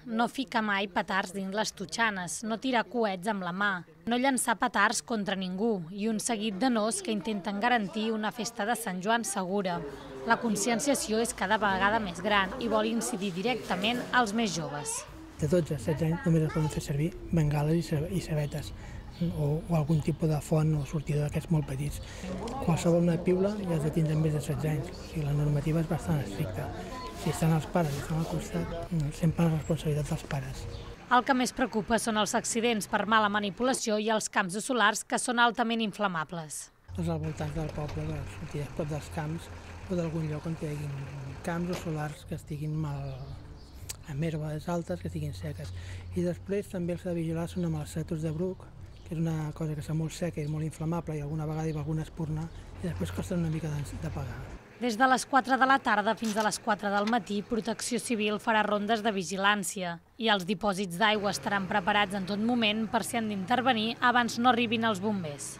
No fica mai petards dins les totxanes, no tirar coets amb la mà, no llançar petards contra ningú i un seguit de nos que intenten garantir una festa de Sant Joan segura. La conscienciació és cada vegada més gran i vol incidir directament als més joves. De 12 a 16 anys només es poden fer servir bengales i sabetes o algun tipus de font o sortidor d'aquests molt petits. Qualsevol una piula ja has de tindre més de 16 anys, o sigui, la normativa és bastant estricta. Si estan els pares i estan al costat, sempre la responsabilitat dels pares. El que més preocupa són els accidents per mala manipulació i els camps de solars que són altament inflamables. Els al voltant del poble, les sortides prop dels camps o d'algun lloc on hi hagi camps o solars que estiguin amb herbes altes, que estiguin seques. I després també els de vigilar són amb els cètols de bruc, que és una cosa que està molt seca i molt inflamable i alguna vegada hi va alguna espurna i després costa una mica d'apagar. Des de les 4 de la tarda fins a les 4 del matí, Protecció Civil farà rondes de vigilància i els dipòsits d'aigua estaran preparats en tot moment per si han d'intervenir abans no arribin els bombers.